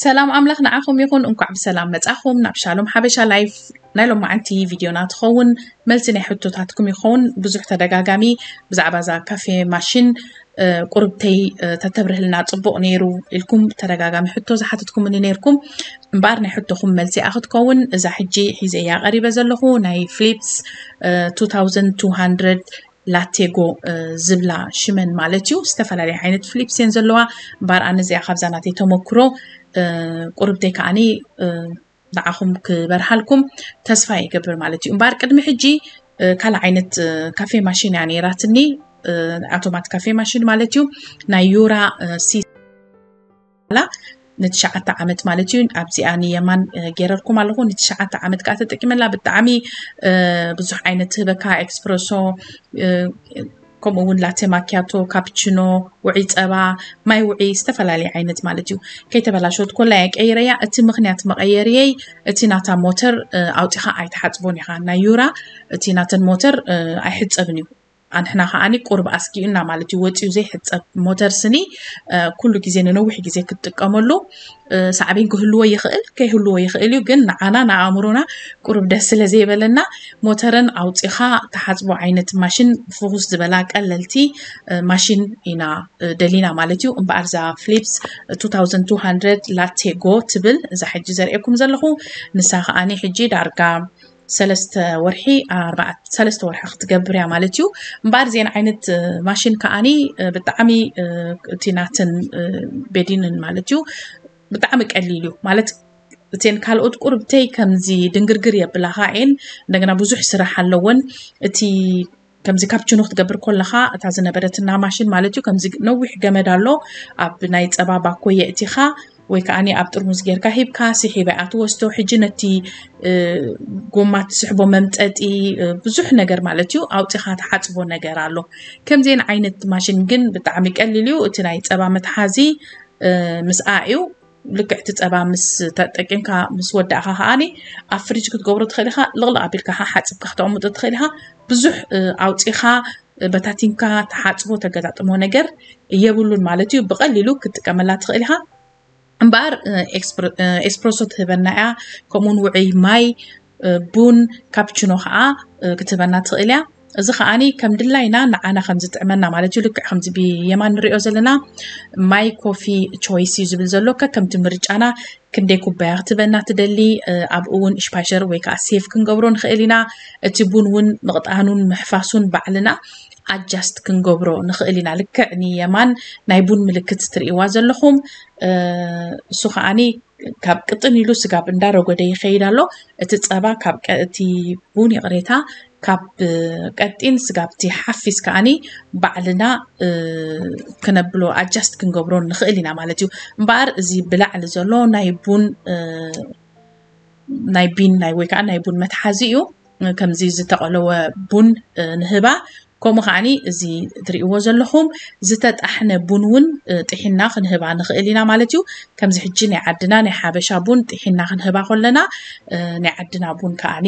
ሰላም ኣምላኽ ንዓኹም ይኹን። እንኳዕ ብሰላም መጻኹም ናብ ሻሎም ሓበሻ ላይፍ። ናይ ሎማዓንቲ ቪድዮና ትኸውን መልሲ ናይ ሕቶታትኩም ይኸውን። ብዙሕ ተደጋጋሚ ብዛዕባ እዛ ካፌ ማሽን ቁርብተይ ተተብርህልና ጽቡቕ ነይሩ ኢልኩም ተደጋጋሚ ሕቶ ዝሓትትኩምኒ ነይርኩም። እምበኣር ናይ ሕቶኹም መልሲ ክትከውን እዛ ሕጂ ሒዘያ ቀሪበ ዘለኹ ናይ ፍሊፕስ two thousand two hundred ላቴጎ ዝብላ ሽመን ማለት እዩ። ዝተፈላለየ ዓይነት ፍሊፕስ እየን ዘለዋ። እምበኣር ኣነ እዚኣ ካብዛ ናተይ ተመክሮ ቁርብተይ ከዓኒ ንዓኹም ክበርሃልኩም ተስፋ ይገብር ማለት እዩ። እምበኣር ቅድሚ ሕጂ ካልእ ዓይነት ካፌ ማሽን እያ ነይራትኒ። ኣውቶማት ካፌ ማሽን ማለት እዩ። ናይ ዩራ ሲ ንትሽዓተ ዓመት ማለት እዩ። ኣብዚኣ ንየማን ገይረልኩም ኣለኹ። ንትሽዓተ ዓመት ከዓ ተጠቂመላ። ብጣዕሚ ብዙሕ ዓይነት ህበካ፣ ኤክስፕረሶ፣ ከምኡ እውን ላቴ ማኪያቶ፣ ካፕችኖ፣ ውዒ ጸባ፣ ማይ ውዒ፣ ዝተፈላለየ ዓይነት ማለት እዩ። ከይተበላሸወት ኮላ እየ ቀይረያ። እቲ ምኽንያት መቐየርየይ እቲ ናታ ሞተር ኣውፂኻ ኣይትሓፅቦን ኢኻ። ናይ ዩራ እቲ ናተን ሞተር ኣይሕፀብን እዩ። ኣንሕና ከዓኒ ቁርብ ኣስጊኡና ማለት እዩ። ወፂኡ ዘይሕፀብ ሞተር ስኒ ኩሉ ግዜ ንነዊሕ ግዜ ክትጥቀመሉ ሳዕቤን ክህልዎ ይኽእል ከይህልዎ ይኽእል እዩ። ግን ንዓና ንኣእምሮና ቁርብ ደስ ስለ ዘይበለና ሞተረን ኣውፂኻ ተሓፅቦ ዓይነት ማሽን ፍኹስ ዝበላ ቀለልቲ ማሽን ኢና ደሊና ማለት እዩ። እምበኣር እዛ ፍሊፕስ two thousand two hundred ላቴጎ ትብል እዛ ሕጂ ዘርእየኩም ዘለኹ ንሳ ከዓኒ ሕጂ ዳርጋ ሰለስተ ወርሒ ኣርባዕተ ሰለስተ ወርሒ ክትገብር እያ ማለት እዩ። እምበኣር እዚአን ዓይነት ማሽን ከዓኒ ብጣዕሚ እቲ ናተን ቤዲንን ማለት እዩ ብጣዕሚ ቀሊል እዩ ማለት እተን ካልኦት ቁርብተይ ከምዚ ድንግርግር የብላኻ እየን። እንደገና ብዙሕ ስራሕ ኣለወን። እቲ ከምዚ ካፕችኖ ክትገብር ከለኻ እታ ዝነበረትና ማሽን ማለት እዩ ከምዚ ነዊሕ ገመድ ኣሎ ኣብ ናይ ፀባ ባኮ የእቲኻ ወይ ከዓ ኣብ ጥርሙዝ ጌርካ ሂብካ ስሒባ እያ ትወስዶ። ሕጂ ነቲ ጎማ ትስሕቦ መምጠጢ ብዙሕ ነገር ማለት እዩ ኣውፂኻ ትሓፅቦ ነገር ኣሎ። ከምዚአን ዓይነት ማሽን ግን ብጣዕሚ ቀሊል እዩ። እቲ ናይ ፀባ መትሓዚ ምስኣ እዩ። ልክዕ እቲ ፀባ ምስ ተጠቂምካ ምስ ወዳእካ ከዓኒ ኣብ ፍሪጅ ክትገብሮ ትኽእል ኢኻ። ልቕልቕ ኣቢልካ ሓፂብካ ክተቕምጦ ትኽእል ኢኻ። ብዙሕ ኣውፂኻ በታቲንካ ተሓፅቦ ተገጣጥሞ ነገር የብሉን ማለት እዩ። ብቐሊሉ ክትጥቀመላ ትኽእል ኢኻ። እምበኣር ኤስፕረሶ ትህበና እያ። ከምኡውን ውዑይ ማይ፣ ቡን፣ ካፕችኖ ከዓ ክትህበና ትኽእል እያ። እዚ ከዓኒ ከም ድላይና ንዓና ከም ዝጥዕመና ማለት እዩ። ልክዕ ከምዚ ብየማን ንሪኦ ዘለና ማይ ኮፊ ቾይስ እዩ ዝብል ዘሎ። ከከምቲ ምርጫና ክንደይ ኩባያ ክትህበና ትደሊ ኣብኡ እውን ሽፓሸር ወይ ከዓ ሴፍ ክንገብሮ ንኽእል ኢና። እቲ ቡን እውን ምቕጣኑን ምሕፋሱን ባዕልና ኣጃስት ክንገብሮ ንኽእል ኢና። ልክዕ ንየማን ናይ ቡን ምልክት ትርእይዋ ዘለኹም እሱ ከዓኒ ካብ ቅጥን ኢሉ ስጋብ እንዳረጎደ ይኸይድ ኣሎ። እቲ ፀባ ካብ ቀ- እቲ ቡን ይቕሬታ ካብ ቀጢን ስጋብ እቲ ሓፊስ ከዓኒ ባዕልና ክነብሎ ኣጃስት ክንገብሮ ንኽእል ኢና ማለት እዩ። እምበኣር እዚ ብላዕሊ ዘሎ ናይ ቡን ናይ ቢን ናይ ወይ ከዓ ናይ ቡን መትሓዚ እዩ። ከምዚ ዝተቐለወ ቡን ንህባ። ከምኡ ከዓኒ እዚ ትርእይዎ ዘለኹም ዝተጣሕነ ቡን እውን ጥሒና ክንህባ ንኽእል ኢና ማለት እዩ። ከምዚ ሕጂ ናይ ዓድና ናይ ሓበሻ ቡን ጥሒና ክንህባ ከለና ናይ ዓድና ቡን ከዓኒ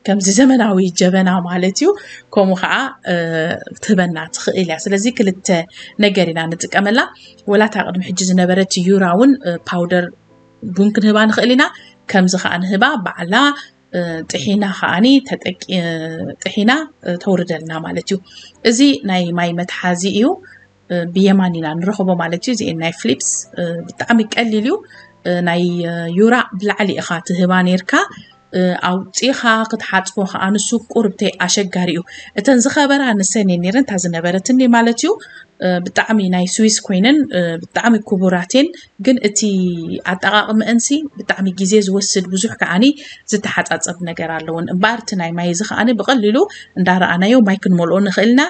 ከምዚ ዘመናዊ ጀበና ማለት እዩ። ከምኡ ከዓ ትህበና ትኽእል እያ። ስለዚ ክልተ ነገር ኢና ንጥቀመላ። ወላታ ቅድሚ ሕጂ ዝነበረት ዩራ እውን ፓውደር ቡን ክንህባ ንኽእል ኢና። ከምዚ ከዓ ንህባ ባዕላ ጥሒና ከዓኒ ጥሒና ተውርደልና ማለት እዩ። እዚ ናይ ማይ መትሓዚ እዩ። ብየማን ኢና ንረኽቦ ማለት እዩ። እዚኤን ናይ ፍሊፕስ ብጣዕሚ ቀሊል እዩ። ናይ ዩራ ብላዕሊ ኢኻ ትህባ ነርካ ኣውፂኻ ክትሓፅቦ ከዓ ንሱ ቁርብተይ ኣሸጋሪ እዩ። እተን ዝኸበራ ንሰን እየን ነረን እታ ዝነበረትኒ ማለት እዩ። ብጣዕሚ ናይ ስዊስ ኮይነን ብጣዕሚ ክቡራት እየን። ግን እቲ ኣጠቃቅምአንሲ ብጣዕሚ ግዜ ዝወስድ ብዙሕ ከዓኒ ዝተሓፃፀብ ነገር ኣለውን። እምበኣር እቲ ናይ ማይ እዚ ከዓኒ ብቀሊሉ እንዳረኣናዮ ማይ ክንመልኦ ንኽእልና።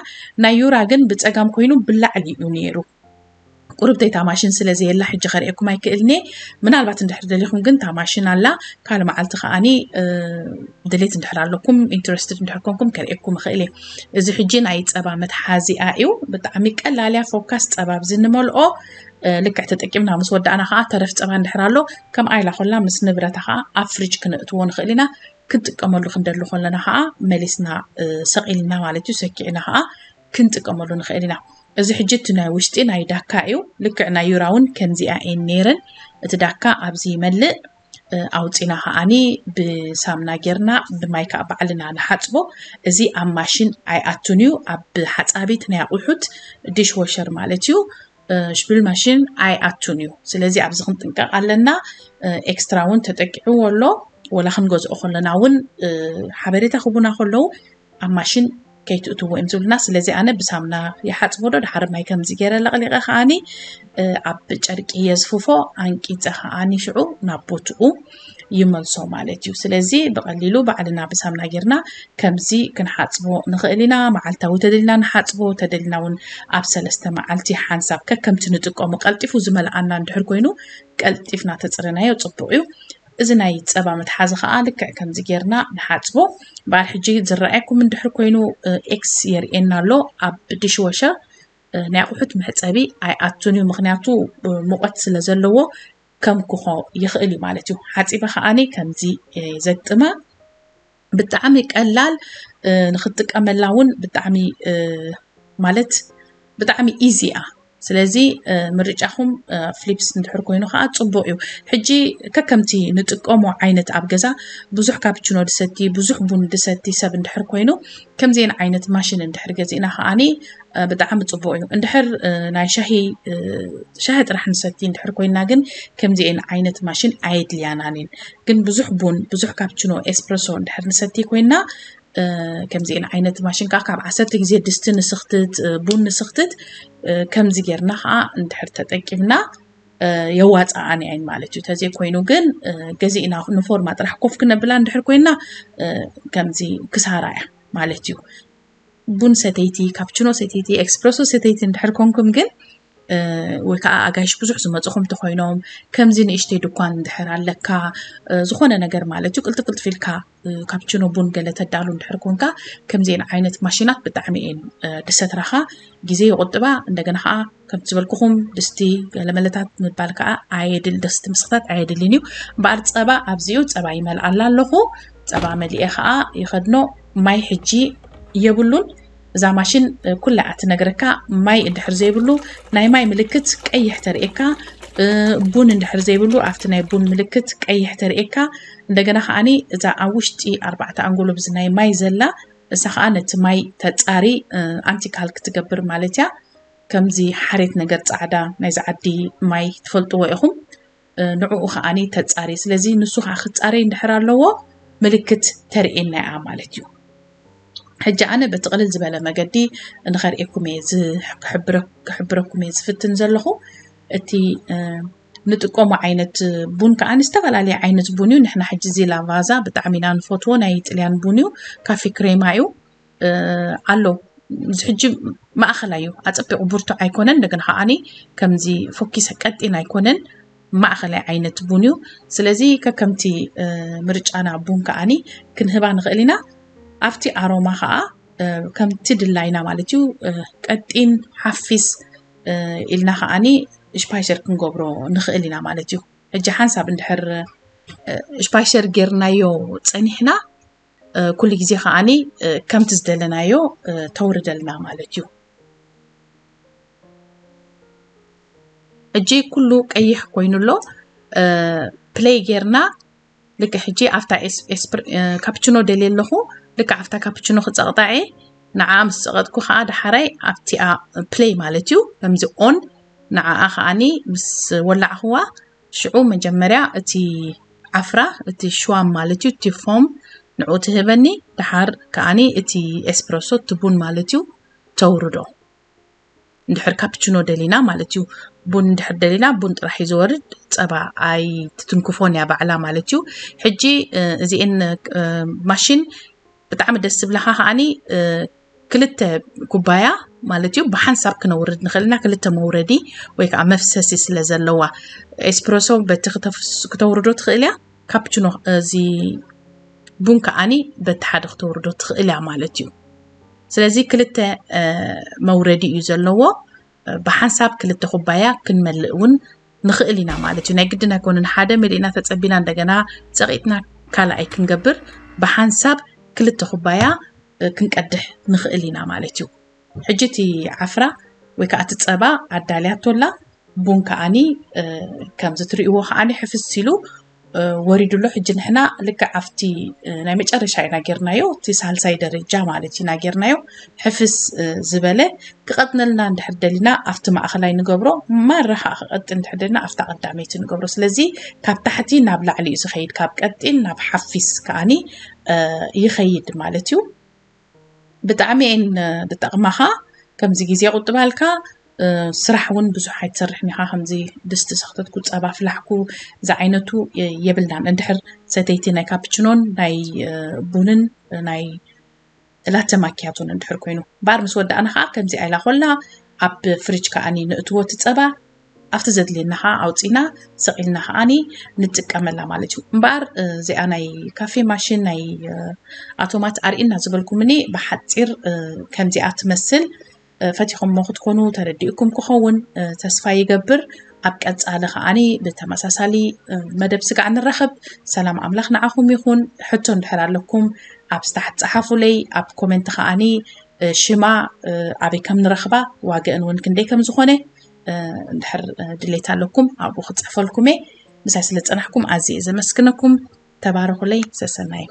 ናይ ዩራ ግን ብፀጋም ኮይኑ ብላዕሊ እዩ ነይሩ። ቁርብተይታ ማሽን ስለ ዘየላ ሕጂ ከርእየኩም ኣይክእልኒ። ምናልባት እንድሕር ደሊኹም ግን እታ ማሽን ኣላ ካልእ መዓልቲ ከዓኒ ድሌት እንድሕር ኣለኩም ኢንትረስትድ እንድሕር ኮንኩም ከርእየኩም እኽእል እየ። እዚ ሕጂ ናይ ፀባ መትሓዚኣ እዩ። ብጣዕሚ ቀላል እያ። ፎካስ ፀባ ኣብዚ ንመልኦ ልክዕ ተጠቂምና ምስ ወዳእና ከዓ ተረፍ ፀባ እንድሕር ኣሎ ከምኣ ኢላ ኮላ ምስ ንብረታ ከዓ ኣብ ፍሪጅ ክነእትዎ ንኽእል ኢና። ክንጥቀመሉ ክንደሊ ከለና ከዓ መሊስና ሰቂልና ማለት እዩ ሰኪዕና ከዓ ክንጥቀመሉ ንኽእል ኢና። እዚ ሕጂ እቲ ናይ ውሽጢ ናይ ዳካ እዩ። ልክዕ ናይ ዩራ እውን ከምዚኣ እየን ነይረን። እቲ ዳካ ኣብዚ ይመልእ። ኣውፂና ከዓኒ ብሳምና ጌርና ብማይ ከዓ ባዕልና ንሓፅቦ። እዚ ኣብ ማሽን ኣይኣቱን እዩ። ኣብ ሓፃቢት ናይ ኣቑሑት፣ ዲሽ ወሸር ማለት እዩ፣ ሽብል ማሽን ኣይኣቱን እዩ። ስለዚ ኣብዚ ክንጥንቀቕ ኣለና። ኤክስትራ እውን ተጠቂዕዎ ኣሎ። ወላ ክንገዝኦ ከለና እውን ሓበሬታ ክቡና ከለዉ ኣብ ማሽን ከይትእትዎ እዮም ዝብልና። ስለዚ ኣነ ብሳምና ይሓፅቦ ዶ፣ ድሓር ማይ ከምዚ ገይረ ለቕሊቐ ከዓኒ ኣብ ጨርቂ የዝፍፎ፣ ኣንቂፀ ከዓኒ ሽዑ ናብ ቦትኡ ይመልሶ ማለት እዩ። ስለዚ ብቐሊሉ ባዕልና ብሳምና ጌርና ከምዚ ክንሓፅቦ ንኽእል ኢና። መዓልታዊ ተደልና ንሓፅቦ፣ ተደልና እውን ኣብ ሰለስተ መዓልቲ ሓንሳብ ከከምቲ ንጥቀሙ። ቀልጢፉ ዝመልኣና እንድሕር ኮይኑ ቀልጢፍና ተፅርናዮ ፅቡቕ እዩ። እዚ ናይ ፀባ መትሓዚ ከዓ ልክዕ ከምዚ ጌርና ንሓፅቦ። በዓል ሕጂ ዝረኣየኩም እንድሕር ኮይኑ ኤክስ የርእየና ኣሎ። ኣብ ዲሽወሸር ናይ ኣቑሑት መሕፀቢ ኣይኣቱን እዩ፣ ምክንያቱ ሙቐት ስለ ዘለዎ ከም ክኾ ይኽእል እዩ ማለት እዩ። ሓፂበ ከዓኒ ከምዚ ዘግጥማ። ብጣዕሚ ቀላል፣ ንክትጥቀመላ እውን ብጣዕሚ ማለት ብጣዕሚ ኢዚ እያ። ስለዚ ምርጫኹም ፍሊፕስ እንድሕር ኮይኑ ከዓ ፅቡቅ እዩ። ሕጂ ከከምቲ ንጥቀሞ ዓይነት ኣብ ገዛ ብዙሕ ካፕችኖ ድሰቲ፣ ብዙሕ ቡን ድሰቲ ሰብ እንድሕር ኮይኑ ከምዚአን ዓይነት ማሽን እንድሕር ገዚእና ከዓኒ ብጣዕሚ ፅቡቅ እዩ። እንድሕር ናይ ሻሂ ሻሂ ጥራሕ ንሰቲ እንድሕር ኮይና ግን ከምዚአን ዓይነት ማሽን ኣየድልያናንን። ግን ብዙሕ ቡን ብዙሕ ካፕችኖ ኤስፕረሶ እንድሕር ንሰቲ ኮይና ከምዚአን ዓይነት ማሽን ከዓ ካብ ዓሰርተ ግዜ ድስቲ ንስኽትት ቡን ንስኽትት ከምዚ ጌርና ከዓ እንድሕር ተጠቂምና የዋፅኣን እየን ማለት እዩ። ተዘይኮይኑ ግን ገዚእና ንፎርማ ጥራሕ ኮፍ ክነብላ እንድሕር ኮይና ከምዚ ክሳራ እያ ማለት እዩ። ቡን ሰተይቲ፣ ካፕችኖ ሰተይቲ፣ ኤክስፕረሶ ሰተይቲ እንድሕር ኮንኩም ግን ወይ ከዓ ኣጋይሽ ብዙሕ ዝመፁኹም እንተኮይኖም ከምዚ ንእሽተይ ድኳን እንድሕር ኣለካ ዝኾነ ነገር ማለት እዩ ቅልጥፍ ቅልጥፍ ኢልካ ካፕችኖ ቡን ገለ ተዳሉ እንድሕር ኮንካ ከምዚአን ዓይነት ማሽናት ብጣዕሚ እየን ድሰትራኻ ግዜ ይቁጥባ። እንደገና ከዓ ከምቲ ዝበልኩኹም ድስቲ ገለመለታት ምባል ከዓ ኣየድል ደስቲ ምስክታት ኣየድልን እዩ። እምበኣር ፀባ ኣብዚኡ ፀባ ይመልኣላ ኣለኹ። ፀባ መሊኤ ከዓ ይኸድኖ። ማይ ሕጂ የብሉን። እዛ ማሽን ኩላ እያ ትነግረካ። ማይ እንድሕር ዘይብሉ ናይ ማይ ምልክት ቀይሕ ተርእየካ፣ ቡን እንድሕር ዘይብሉ ኣብቲ ናይ ቡን ምልክት ቀይሕ ተርእየካ። እንደገና ከዓኒ እዛ ኣብ ውሽጢ ኣርባዕተ ኣንጎሎ ብዚ ናይ ማይ ዘላ እሳ ከዓ ነቲ ማይ ተፃሪ ኣንቲካል ክትገብር ማለት እያ። ከምዚ ሓሬት ነገር ፃዕዳ ናይዚ ዓዲ ማይ ትፈልጥዎ ኢኹም። ንዕኡ ከዓኒ ተፃሪ። ስለዚ ንሱ ከዓ ክፃረይ እንድሕር ኣለዎ ምልክት ተርእየና እያ ማለት እዩ። ሕጂ ኣነ በቲ ቅልል ዝበለ መገዲ ንኸርእየኩም እየ ክሕብረኩም እየ ዝፍትን ዘለኹ። እቲ ንጥቀሞ ዓይነት ቡን ከዓ ዝተፈላለየ ዓይነት ቡን እዩ። ንሕና ሕጂ እዚ ላቫዛ ብጣዕሚ ኢና ንፈትዎ፣ ናይ ጥልያን ቡን እዩ፣ ካፊ ክሬማ እዩ ኣሎ። እዚ ሕጂ ማእኸላይ እዩ፣ ኣፀቢቑ ብርቱዕ ኣይኮነን፣ እንደገና ከዓኒ ከምዚ ፎኪሰ ቀጢን ኣይኮነን፣ ማእኸላይ ዓይነት ቡን እዩ። ስለዚ ከከምቲ ምርጫና ቡን ከዓኒ ክንህባ ንኽእል ኢና። ኣብቲ ኣሮማ ከዓ ከምቲ ድላይና ማለት እዩ፣ ቀጢን ሓፊስ ኢልና ከዓኒ ሽፓይሸር ክንገብሮ ንኽእል ኢና ማለት እዩ። ሕጂ ሓንሳብ እንድሕር ሽፓይሸር ጌርናዮ ፀኒሕና ኩሉ ግዜ ከዓኒ ከምቲ ዝደለናዮ ተውርደልና ማለት እዩ። ሕጂ ኩሉ ቀይሕ ኮይኑ ኣሎ። ፕለይ ጌርና ልክዕ ሕጂ ኣብታ ካፕችኖ ደልየ ኣለኹ። ልክዕ ኣብታ ካፕችኖ ክፀቕጣዐ ንዓ ምስ ፀቐጥኩ ከዓ ዳሓራይ ኣብቲኣ ፕለይ ማለት እዩ። ከምዚ ኦን ንዓኣ ከዓኒ ምስ ወላዕኽዋ ሽዑ መጀመርያ እቲ ዓፍራ እቲ ሽዋም ማለት እዩ እቲ ፎም ንዑ ትህበኒ። ድሓር ከዓኒ እቲ ኤስፕረሶ እቲ ቡን ማለት እዩ ተውርዶ። እንድሕር ካፕችኖ ደሊና ማለት እዩ፣ ቡን እንድሕር ደሊና ቡን ጥራሕ እዩ ዝወርድ፣ ፀባ ኣይትትንክፎን እያ ባዕላ ማለት እዩ። ሕጂ እዚኤን ማሽን ብጣዕሚ ደስ ዝብላኻ ከዓኒ ክልተ ኩባያ ማለት እዩ ብሓንሳብ ክነውርድ ንኽእል ኢና። ክልተ መውረዲ ወይ ከዓ መፍሰሲ ስለ ዘለዋ ኤስፕረሶ በቲ ክተውርዶ ትኽእል እያ። ካፕችኖ እዚ ቡን ከዓኒ በቲ ሓደ ክተውርዶ ትኽእል እያ ማለት እዩ። ስለዚ ክልተ መውረዲ እዩ ዘለዎ። ብሓንሳብ ክልተ ኩባያ ክንመልእ እውን ንኽእል ኢና ማለት እዩ። ናይ ግድን ኣይኮነን ሓደ መሊእና ተፀቢና እንደገና ፀቒጥና ካልኣይ ክንገብር፣ ብሓንሳብ ክልተ ኩባያ ክንቀድሕ ንኽእል ኢና ማለት እዩ። ሕጂ እቲ ዓፍራ ወይ ከዓ እቲ ፀባ ኣዳልያቶ ኣላ። ቡን ከዓኒ ከምዚ ትርእይዎ ከዓኒ ሕፍስ ኢሉ ወሪዱ ኣሎ። ሕጂ ንሕና ልክዕ ኣብቲ ናይ መጨረሻ ኢና ጌርናዮ፣ እቲ ሳልሳይ ደረጃ ማለት ኢና ጌርናዮ። ሕፍስ ዝበለ ክቐጥነልና እንድሕር ደሊና ኣብቲ ማእኸላይ ንገብሮ፣ ማራ ከዓ ክቐጥን እንድሕር ደሊና ኣብታ ቀዳመይቲ ንገብሮ። ስለዚ ካብ ታሕቲ ናብ ላዕሊ እዩ ዝኸይድ፣ ካብ ቀጢን ናብ ሓፊስ ከዓኒ ይኸይድ ማለት እዩ። ብጣዕሚ እየን ዝጠቕማኻ። ከምዚ ግዜ ቁጥባልካ ስራሕ እውን ብዙሕ ኣይትሰርሕን ኢኻ። ከምዚ ድስቲ ሰኽተትኩ፣ ፀባ ፍላሕኩ፣ እዚ ዓይነቱ የብልናን። እንድሕር ሰተይቲ ናይ ካፕችኖን ናይ ቡንን ናይ ላተ ማኪያቶን እንድሕር ኮይኑ፣ እምበኣር ምስ ወዳእና ከዓ ከምዚ ኣይላ ኮላ ኣብ ፍሪጅ ከዓኒ ንእትዎ እቲ ፀባ ኣብቲ ዘድልየና ከዓ ኣውፂና ሰቒልና ከዓኒ ንጥቀመላ ማለት እዩ። እምበኣር እዚኣ ናይ ካፌ ማሽን ናይ ኣቶማት ኣርእና ዝበልኩምኒ ብሓፂር ከምዚኣ ትመስል። ፈቲኹሞ ክትኮኑ ተረዲእኩም ክኸውን ተስፋ ይገብር። ኣብ ቀፃሊ ከዓኒ ብተመሳሳሊ መደብ ስጋዕ ንራኸብ። ሰላም ኣምላኽ ንዓኹም ይኹን። ሕቶ እንድሕር ኣለኩም ኣብ ስታሕት ፀሓፉለይ። ኣብ ኮሜንት ከዓኒ ሽማ ኣበይ ከም ንረኽባ ዋገአን እውን ክንደይ ከም ዝኾነ እንድሕር ድሌት ኣለኩም ኣብኡ ክፅሕፈልኩም እየ። ምሳይ ስለ ዝፀናሕኩም ኣዝየ እየ ዘመስግነኩም። ተባረኹለይ። ሰሰናዩ።